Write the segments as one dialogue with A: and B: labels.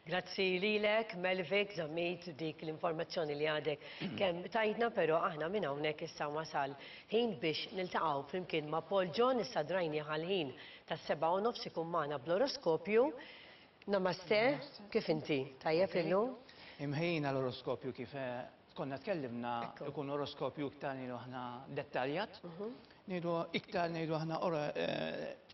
A: Grazzi lilek, Melvic, Zammit, dik l-informazzjoni li għadek kemm tajtna, però aħna minn hawnhekk issa wasal ħin biex niltaqgħu flimkien ma' Paul John, issa drajnieh għall-ħin tas-7:30 ikun magħna bl-oroskopju. Namaste, kif inti? Tajjeb illum?
B: Imħejjin għall-oroskopju kif konna tkellimna ikun oroskopju iktar ngħidu aħna dettaljat, ngħidu iktar ngħidu aħna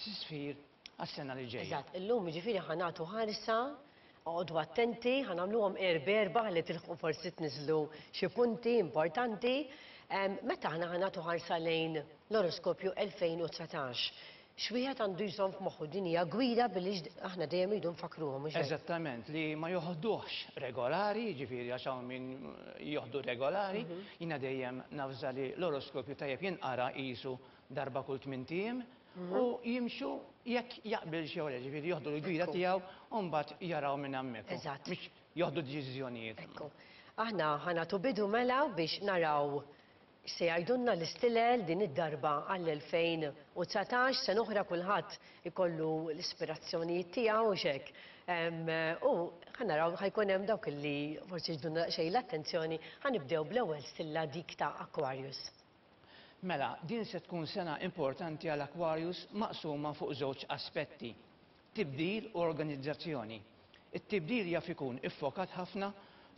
B: tisfir għas-sena li ġejja.
A: Eżatt, illum jiġifieri ħa nagħtu ħarsa, oqogħdu attenti, ħa nagħmluhom erba' ħalli tilħqu forsi tniżżlu xi punti importanti. Meta aħna ħa nagħtu ħarsa lejn l-oroskopju 2019, x'wieħed għandu jżomm f'moħħu? Din hija gwida billi aħna dejjem irridu nfakkruhom, mhux hekk?
B: Eżattament, li ma joħduhx regolari, jiġifieri għax hawn min joħdu regolari, jiena dejjem navża li l-oroskopju tajjeb jinqara qisu darba kull tmint ijiem, u jimxu jekk jaqbilx jew le, ġifieri joħdu l-gwida tiegħu u mbagħad jaraw minn hemmhekk.
A: Eżatt.
B: Biex joħdu deċiżjonijiet.
A: Ekku. Aħna ħa nagħtu bidu mela biex naraw x'se jgħidulna l-istilel din id-darba għall-2019, sena oħra kulħadd ikollu l-ispirazzjonijiet tiegħu u x'hekk. U ħa naraw ħa jkun hemm dawk li forsi jiġbdulna daqsxejn l-attenzjoni, ħa nibdew bl-ewwel stilla dik ta' Aquarius.
B: Mela, din se tkun sena importanti għal Aquarius maqsuma fuq żewġ aspetti, tibdil u organizzazzjoni. It-tibdil jaf ikun iffokat ħafna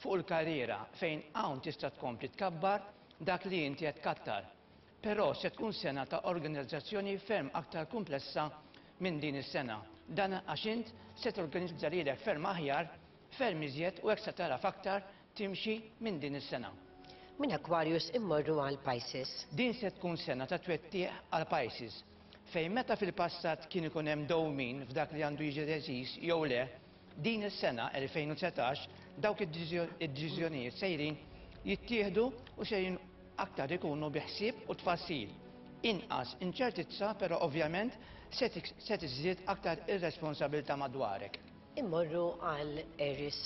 B: fuq il-karriera fejn hawn tista' tkompli tkabbar dak li inti qed tkattar. Però se tkun sena ta' organizzazzjoni ferm aktar kumplessa minn din is-sena. Dan għax int se torganizza lilek ferm aħjar, ferm iżjed u hekk se tagħraf aktar timxi minn din is-sena.
A: Minn Aquarius immorru għal Pisces.
B: Din se tkun sena ta' twettiq għal Pisces, fejn meta fil-passat kien ikun hemm dewmien f'dak li għandu jiġi deċiż jew le, din is-sena 2019 dawk id-deċiżjonijiet sejrin jittieħdu u sejrin aktar ikunu bi ħsieb u tfassil. Inqas inċertizza però ovvjament se tiżdied aktar ir-responsabilità madwarek.
A: Immorru għal Aries.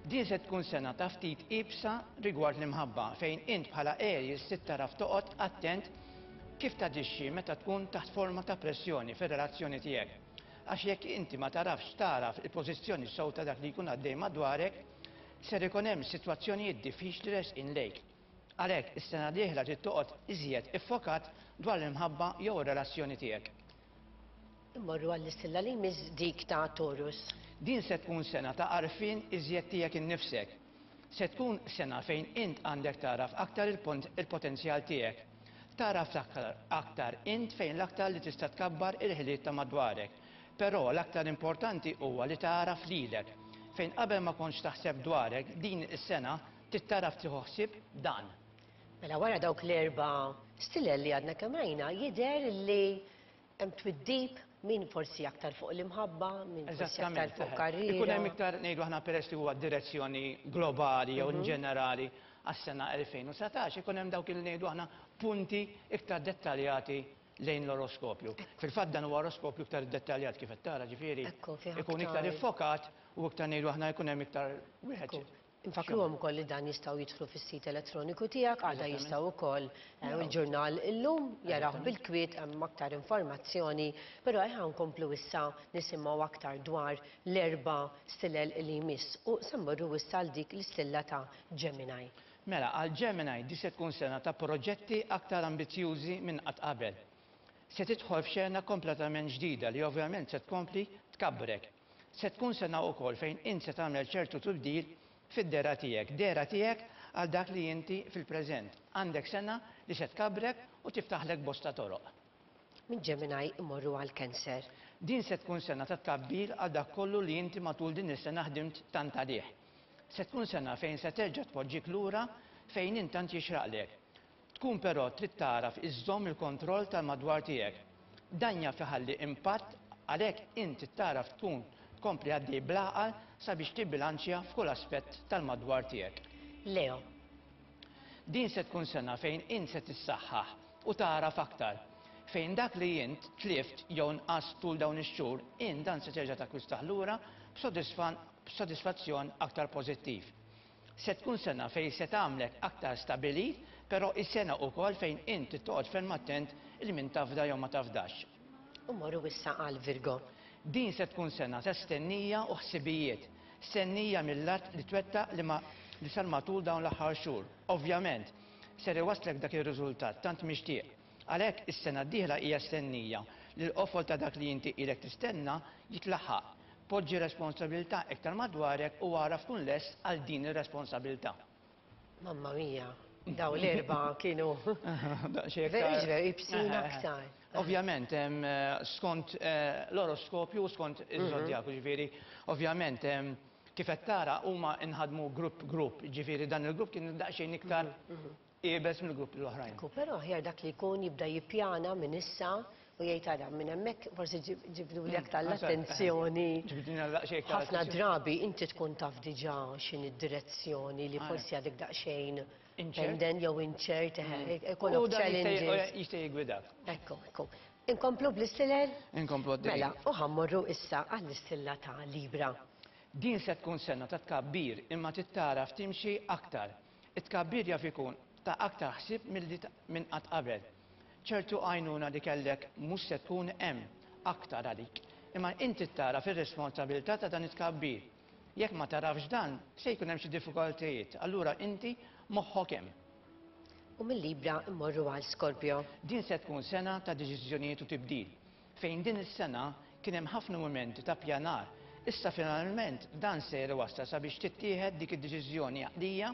B: Din se tkun sena ta' ftit iebsa rigward l-imħabba fejn int bħala Aries trid tagħraf toqgħod attent kif taġixxi meta tkun taħt forma ta' pressjoni fir-relazzjoni tiegħek. Għax jekk inti ma tagħrafx tagħraf il-pożizzjoni sew ta' dak li jkun għaddej madwarek, ser ikun hemm sitwazzjonijiet diffiċli resqin lejk. Għalhekk, is-sena d-dieħla trid toqgħod iżjed iffokat dwar l-imħabba jew ir-relazzjoni tiegħek.
A: Immorru għall-istilla li jmiss dik ta' Taurus.
B: Din se tkun sena ta' għarfien iżjed tiegħek innifsek. Se tkun sena fejn int għandek tagħraf aktar il-potenzjal tiegħek. Tagħraf aktar int fejn l-aktar li tista' tkabbar il-ħiliet ta' madwarek. Però l-aktar importanti huwa li tagħraf lilek. Fejn qabel ma kontx taħseb dwarek, din is-sena trid tagħraf tieħu ħsieb dan.
A: Mela wara dawk l-erba' stilel li għadna kemm rajna jidher li Hemm twiddib, min forsi aktar fuq l-imħabba, min forsi aktar fuq karriera.
B: Ikun hemm iktar ngħidu aħna peress li huwa direzzjoni globali jew in ġenerali għas-sena 2019, ikun hemm dawk il ngħidu aħna punti iktar dettaljati lejn l-oroskopju. Fil-fatt dan huwa oroskopju iktar iddettaljat kif qed tara ġifieri ikun iktar iffokat u iktar ngħidu aħna jkun hemm iktar wieħed.
A: Infakkruhom ukoll li dan jistgħu jidħlu fis-sit elettroniku tiegħek, għada jistgħu wkoll il-ġurnal illum jarawh bil-kwiet hemm aktar informazzjoni, però ejja nkomplu issa nisimgħu aktar dwar l-erba' stilel li jmiss u se mmorru issa għal dik l-istilla ta' Gemini.
B: Mela, għal Gemini di se tkun sena ta' proġetti aktar ambizzjużi minn qatt qabel. Se tidħol f'xena kompletament ġdida li ovvjament se tkompli tkabbrek. Se tkun sena ukoll fejn int se tagħmel ċertu tibdil fid-dehra tiegħek, dehra tiegħek għal dak li inti fil-preżent. Għandek sena li se tkabbrek u tiftaħlek bosta toroq.
A: Minn Gemini immorru għal Cancer.
B: Din se tkun sena ta' tkabbir għal dak kollu li inti matul din is-sena ħdimt tant għalih. Se tkun sena fejn se terġa' tpoġġik lura fejn int tant jixraqlek. Tkun però trid tagħraf iżżomm il-kontroll tal-madwar tiegħek. Dan jaf iħalli impatt għalhekk int trid tagħraf tkun tkompli għaddej bl-għaqal sabiex tibbilanċja f'kull aspett tal-madwar tiegħek.
A: Leo.
B: Din se tkun sena fejn int se tissaħħaħ u tagħraf aktar. Fejn dak li int tlift jew nqast tul dawn ix-xhur, int dan se terġa' takkwistah lura b'sodisfazzjon aktar pożittiv. Se tkun sena fejn se tagħmlek aktar stabilit, però hi sena ukoll fejn int trid toqgħod ferm attent il min tafda jew ma tafdax.
A: U mmorru issa għal Virgo.
B: Din se tkun sena ta' stennija u ħsibijiet. Stennija mil-lat li twettaq li ma li sar matul dawn l-aħħar xhur. Ovvjament, ser iwasslek dak ir-riżultat tant mixtieq. Għalhekk, is-sena d-dieħla hija stennija li l-qofol ta' dak li inti ilek tistenna jitlaħħaq. Poġġi responsabilità iktar madwarek u agħraf tkun lest għal din ir-responsabilità.
A: Mamma mia, daw l-erba kienu.
B: Daqsxejn iktar.
A: Veru, ibsin aktar.
B: Ovvjament, skont l-oroskopju u skont iż-żodjaku, ġifieri, ovvjament, kif qed tara huma nħadmu grupp grupp, ġifieri dan il-grupp kien daqsxejn iktar iebes mill-gruppi l-oħrajn.
A: Ekku, però aħjar dak li jkun jibda jippjana minn issa u jgħid ara minn hemmhekk forsi ġibduli aktar l-attenzjoni.
B: Ġibdina daqsxejn iktar
A: Ħafna drabi inti tkun taf diġà x'inhi d-direzzjoni li forsi għadek daqsxejn pendent jew inċert, ikollok challenges.
B: Jista' jiggwidak.
A: Ekku, ekku. Inkomplu bl-istilel?
B: Inkomplu għaddejjin.
A: Mela, u ħa mmorru issa għall-istilla ta' Libra.
B: Din se tkun sena ta' tkabbir imma trid tagħraf timxi aktar. It-tkabbir jaf ikun ta' aktar ħsieb milli minn qatt qabel. Ċertu għajnuna li kellek mhux se tkun hemm aktar għalik. Imma inti tagħraf ir-responsabilità ta' dan it-tkabbir. Jekk ma tagħrafx dan, se jkun hemm xi diffikultajiet, allura inti moħħok hemm.
A: U mil-Libra mmorru għal Scorpio.
B: Din se tkun sena ta' deċiżjonijiet u tibdil. Fejn din is-sena kien hemm ħafna mumenti ta' ppjanar, issa finalment dan sejjer iwassal sabiex tittieħed dik id-deċiżjoni għaqlija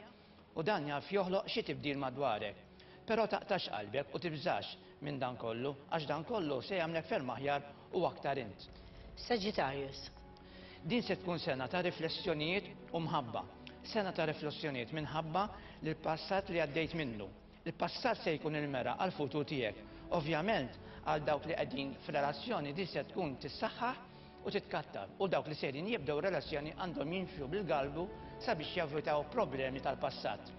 B: u dan jaf joħloq xi tibdil madwarek. Però taqtax qalbek u tibżax minn dan kollu għax dan kollu se jagħmlek ferm aħjar u aktar int.
A: Sagittarius.
B: Din se tkun sena ta' riflessjonijiet u mħabba. Sena ta' riflessjonijiet minħabba l-passat li għaddejt minnu. Il-passat se jkun il-mera għall-futur tiegħek. Ovvjament, għal dawk li qegħdin f'relazzjoni din se tkun tissaħħaħ u titkattar u dawk li sejrin jibdew relazzjoni għandhom jimxu bil-galbu sabiex jevitaw problemi tal-passat.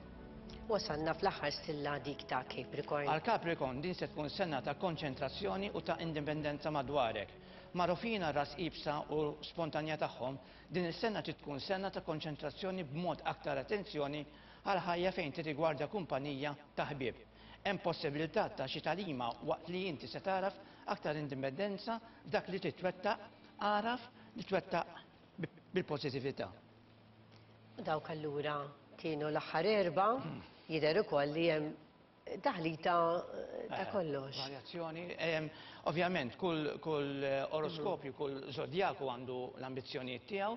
A: Wasalna fl-aħħar stilla dik ta' Capricorn.
B: Għal Capricorn din se tkun sena ta' konċentrazzjoni u ta' indipendenza madwarek. Magħrufin għar-ras iebsa u spontanja tagħhom, din is-sena trid tkun sena ta' konċentrazzjoni b'mod aktar attenzjoni għall-ħajja fejn tirrigwarda kumpanija ta' ħbieb. Hemm possibilità ta' xi tagħlima waqt li inti se tagħraf aktar indipendenza f'dak li trid twettaq, agħraf li twettaq bil-pożittività.
A: U dawk allura kienu l-aħħar erba', jidher ukoll li hemm taħlita ta' kollox.
B: Varjazzjoni. Ovvjament, kull oroskopju, kull zodjaku għandu l-ambizzjonijiet tiegħu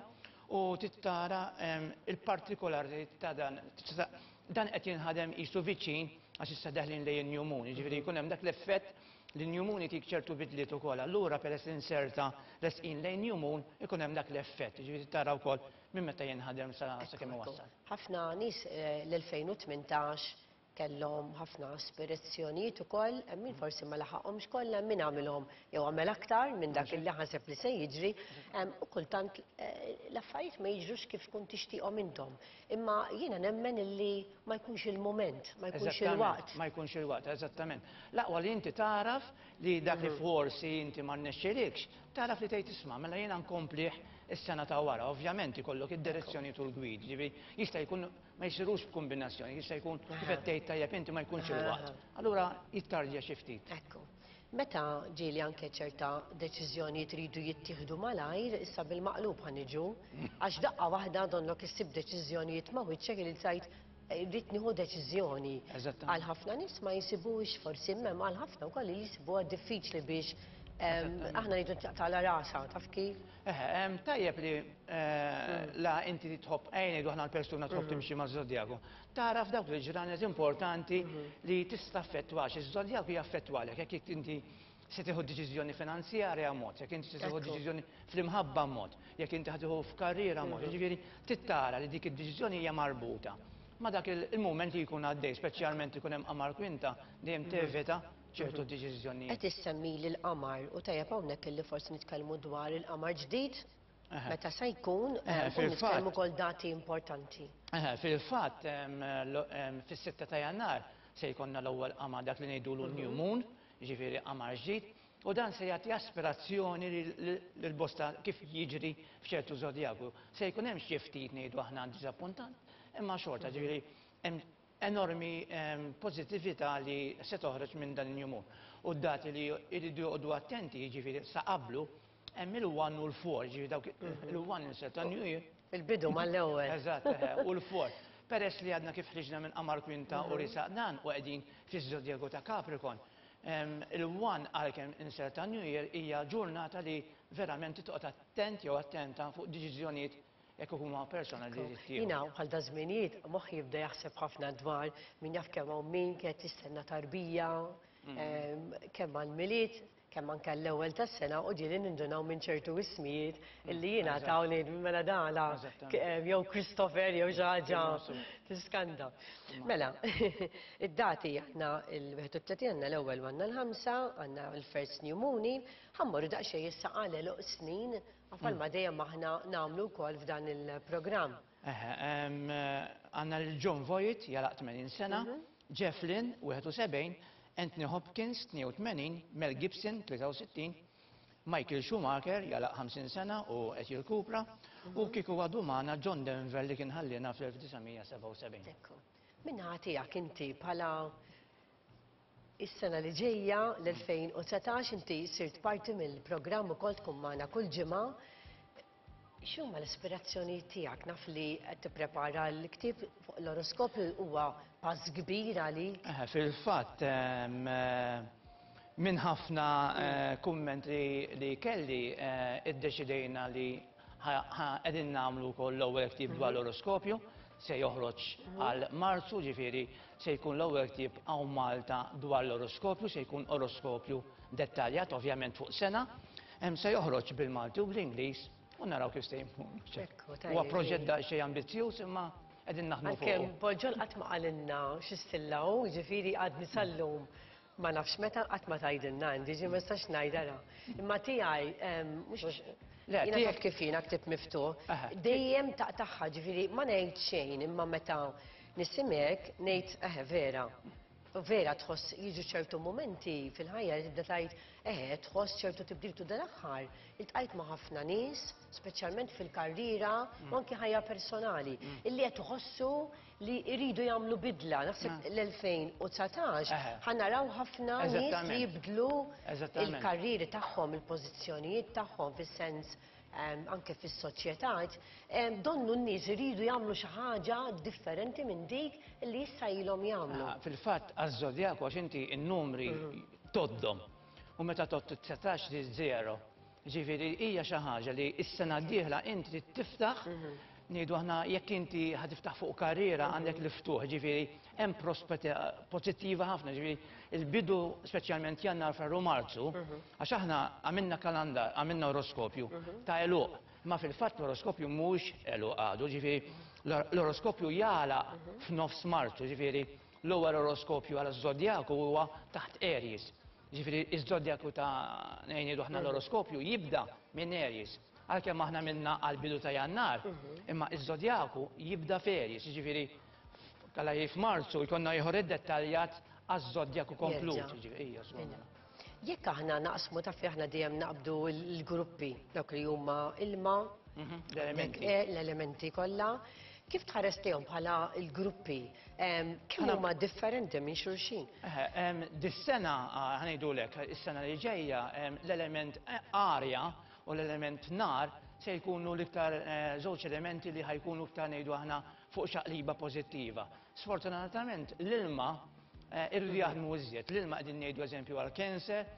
B: u trid tara il-partikolaritajiet ta' dan. Dan qed jinħadem qisu viċin għax issa deħlin lejn in-new moon, jiġifieri jkun hemm dak l-effett li new moon itik ċertu bidliet ukoll. Allura peress li nserta resqin lejn new moon ikun hemm dak l-effett, jiġifieri tara wkoll minn meta jinħadem sa kemm iwassal.
A: Ħafna nies l-2018 kellhom ħafna aspirazzjonijiet ukoll, hemm min forsi ma laħaqhomx kollha, hemm min għamilhom jew għamel aktar minn dak li ħaseb li se jiġri, u kultant l-affarijiet ma jiġrux kif tkun tixtieqhom intom. Imma jiena nemmen illi ma jkunx il-mument, ma jkunx il-waqt.
B: Ma jkunx il-waqt, eżattament. L-aqwa li inti tagħraf li dak li forsi inti ma rnexxilikx, tagħraf li tgħid isma' mela jiena nkomplih is-sena ta' wara. Ovvjament ikollok id-direzzjoni tul gwid, ġifieri jista' jkun ma jsirux b'kombinazzjoni, jista' jkun kif qed tgħid tajjeb inti ma jkunx il-waqt. Allura jittardja xi ftit.
A: Ekku. Meta ġieli anke ċerta deċiżjonijiet iridu jittieħdu malajr, issa bil-maqlub ħa niġu, għax daqqa waħda donnok issib deċiżjonijiet ma' wiċċek li tgħid rrid nieħu deċiżjoni. Għal ħafna nies ma jsibuhiex forsi imma għal ħafna wkoll li jsibuha diffiċli biex aħna ngħidu taqtagħla rasha, taf kif?
B: Eħe, tajjeb li la inti tħobb, ejja ngħidu aħna l-persuna tħobb timxi maż-żodjaku. Tagħraf dawk il-ġranet importanti li tista' taffettwax, iż-żodjaku jaffettwalek jekk inti se tieħu deċiżjoni finanzjarja mod, jekk inti se tieħu deċiżjoni fl-imħabba mod, jekk inti ħa tieħu f'karriera mod, jiġifieri trid tara li dik id-deċiżjoni hija marbuta ma' dak il-mument li jkun għaddej, speċjalment ikun hemm qamar kwinta, dejjem tevita ċertu deċiżjonijiet.
A: Qed issemmili l-qamar u tajjeb hawnhekk illi forsi nitkellmu dwar il-qamar ġdid, meta se jkun, u nitkellmu wkoll dati importanti.
B: Fil-fatt, fis-6 ta' Jannar se jkollna l-ewwel qamar dak li ngħidulu new moon, jiġifieri qamar ġdid, u dan se jagħti aspirazzjoni lil bosta kif jiġri f'ċertu żodjaku. Se jkun hemm xi ftit ngħidu aħna diżappuntant, imma xorta, ġifieri hemm enormi pożittività li se toħroġ minn dan il-new moon. U d-dati li jridu joqogħdu attenti, jiġifieri sa qablu, Hemm il-1 u l-4, ġifieri dawk il-1 inserta New Year.
A: Il-bidu mal-ewwel.
B: Eżatt, u l-4. Peress li għadna kif ħriġna minn Qamar Kwinta u risaq dan u qegħdin fiż-żodjaku ta' Capricorn, il-1 għalkemm inserta New Year hija ġurnata li verament toqgħod attent jew attenta fuq deċiżjonijiet jekk huma personali li
A: jittieħdu. Jiena bħal da żminijiet moħħi jibda jaħseb ħafna dwar min jaf kemm hawn min kienet tistenna tarbija, kemm għall-Milied, kemm anke l-ewwel tas-sena u ġieli nindunaw minn ċertu ismijiet illi jingħataw ngħid mela dala jew Christopher jew xi ħaġa tiskanta. Mela, id-dati għandna il-31 għandna l-ewwel u għandna l-ħamsa, għandna l-first new moon, ħa mmorru daqsxejn issa għal għeluq snin bħalma dejjem aħna nagħmlu wkoll f'dan il-programm.
B: Eħe, għandna lil Jon Voight jalaq 80 sena, Jeff Lynne, 71, Anthony Hopkins, 82, Mel Gibson, 63, Michael Schumacher jalaq 50 sena u qed jirkupra, u kieku għadu magħna John Denver li kien ħalliena fl-1977.
A: Ekku. Min-naħa tiegħek inti bħala is-sena li ġejja l-2019 inti sirt parti mill-programm ukoll tkun magħna kull ġimgħa. X'huma l-ispirazzjonijiet tiegħek? Naf li qed tipprepara l-ktieb fuq l-oroskopju huwa pass kbir għalik.
B: Fil-fatt, minn ħafna kummenti li kelli iddeċidejna li qegħdin nagħmlu wkoll l-ewwel ktieb dwar l-oroskopju, se joħroġ għal Marzu, ġifieri se jkun l-ewwel ktieb hawn Malta dwar l-oroskopju, se jkun oroskopju dettaljat ovvjament fuq sena. Se joħroġ bil-Malti u bl-Ingliż u naraw kif se jmur. Huwa proġett daqsxejn ambizzjuż imma qegħdin naħdmu fuq.
A: Għalkemm Paul John qatt ma qalilna xi stilla hu, jiġifieri għadni sal-lum ma nafx meta qatt ma tgħidilna Andy, ġifieri ma nistax ngħid ara. Imma tiegħi mhux għax jiena taf kif jiena ktieb miftuħ, dejjem taqtagħha, ġifieri ma ngħid xejn imma meta nisimgħek ngħid eħe vera. Vera tħoss jiġu ċertu mumenti fil-ħajja li tibda tgħid eħe tħoss ċertu tibdil tu dal-aħħar iltqajt ma' ħafna nies, speċjalment fil-karriera u anki ħajja personali, illi qed iħossu li jridu jagħmlu bidla. Naħseb l-2019 ħa naraw ħafna nies li jibdlu il-karrieri tagħhom, il-pożizzjonijiet tagħhom fis-sens anke fis-soċjetà, donnu n-nies iridu jagħmlu xi ħaġa differenti minn dik li issa ilhom jagħmlu.
B: Fil-fatt għaż-żodjaku għax inti n-numri tgħoddhom u meta tgħodd it-19 trid żero. Ġifieri hija xi ħaġa li s-sena d-dieħla inti trid tiftaħ ngħidu aħna jekk inti ħa tiftaħ fuq karriera għandek l-ftuħ, ġifieri hemm prospetti pożittiva ħafna, ġifieri il-bidu speċjalment Jannar, Frar u Marzu, għax aħna għamilna kalandar, għamilna oroskopju ta' għeluq, imma fil-fatt l-oroskopju mhuwiex għeluq għadu, ġifieri l-oroskopju jagħlaq f'nofs Marzu, ġifieri l-ewwel oroskopju għal żodjaku huwa taħt Aries. Ġifieri iż-żodjaku ta' ngħidu aħna l-oroskopju jibda minn Aries. Għalkemm aħna minna għall-bidu ta' Jannar, imma iż-żodjaku jibda f'Aries, jiġifieri kalla f'Marzu jkollna ieħor iddettaljat għaż-żodjaku komplut.
A: Jekk aħna naqsmu taf li aħna dejjem naqbdu l-gruppi dawk li huma ilma, l-elementi kollha, kif tħares lejhom bħala l-gruppi? Kemm huma differenti minn xulxin?
B: Dis-sena ħa ngħidulek, is-sena li ġejja l-element arja u l-element nar se jkunu l-iktar żewġ elementi li ħa jkunu iktar ngħidu aħna fuq xaqliba pożittiva. Sfortunatament l-ilma irridu jaħdmu iżjed. L-ilma qegħdin ngħidu eżempju għal Cancer,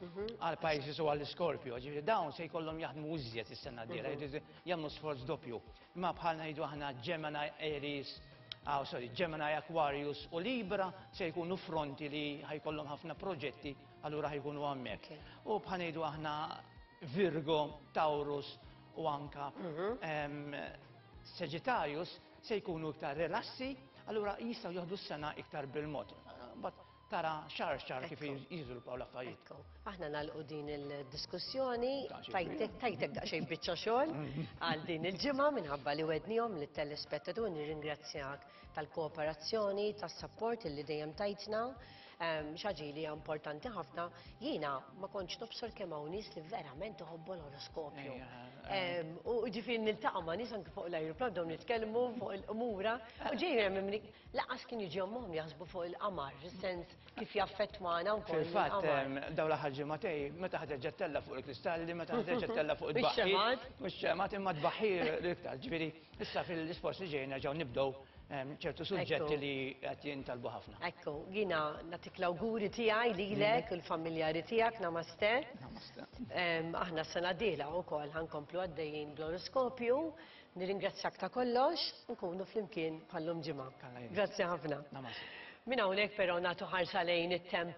B: għal Pisces u għal Scorpio. Ġifieri dawn se jkollhom jaħdmu iżjed is-sena d-dieħla, jridu jagħmlu sforz doppju. Imma bħal ngħidu aħna Gemini, Aries, oh, sorry, Gemini, Aquarius u Libra se jkunu fronti li ħajkollhom ħafna proġetti, allura ħajkunu hemmhekk. U bħal ngħidu aħna Virgo, Taurus u anka Sagittarius se jkunu iktar rilassi, allura jistgħu joħdu s-sena iktar bil-mod. But tara xar xar kif jiżviluppaw l-affarijiet.
A: Ekku, aħna nagħlqu din il-diskussjoni, tajtek tajtek daqsxejn biċċa xogħol għal din il-ġimgħa minħabba li wednihom lit-telespettaturi nirringrazzjak tal-kooperazzjoni, tas-sapport illi dejjem tajtna. Xi ħaġa li hija importanti ħafna, jiena ma kontx nobsor kemm hawn nies li verament iħobbu l-oroskopju. U ġifieri niltaqa' ma' nies anke fuq l-ajruplan dawn nitkellmu fuq il-qmura u ġejjin hemm laqas kien jiġi ommhom jaħsbu fuq il-qamar, fis-sens kif jaffettwana wkoll.
B: Fil-fatt, dawn l-aħħar ġimagħtej, meta ħa terġa' ttella' fuq il-kristalli, meta ħa terġa' ttella' fuq it-tbaħħir. U x-xemgħat imma t-tbaħħir l-iktar. Ġifieri, issa fil-isports li ġej nerġgħu nibdew ċertu suġġetti li qed jintalbu ħafna.
A: Ekku, jiena nagħtik l-awguri tiegħi lilek u l-familjari tiegħek, namaste.
B: Namaste.
A: Aħna s-sena d-dieħla wkoll ħankomplu għaddejjin bl-oroskopju. Nirringrazzjak ta' kollox, nkunu flimkien bħallum ġimgħa. Grazzi ħafna.
B: Namaste.
A: Minn hawnhekk però nagħtu ħarsa lejn it-temp.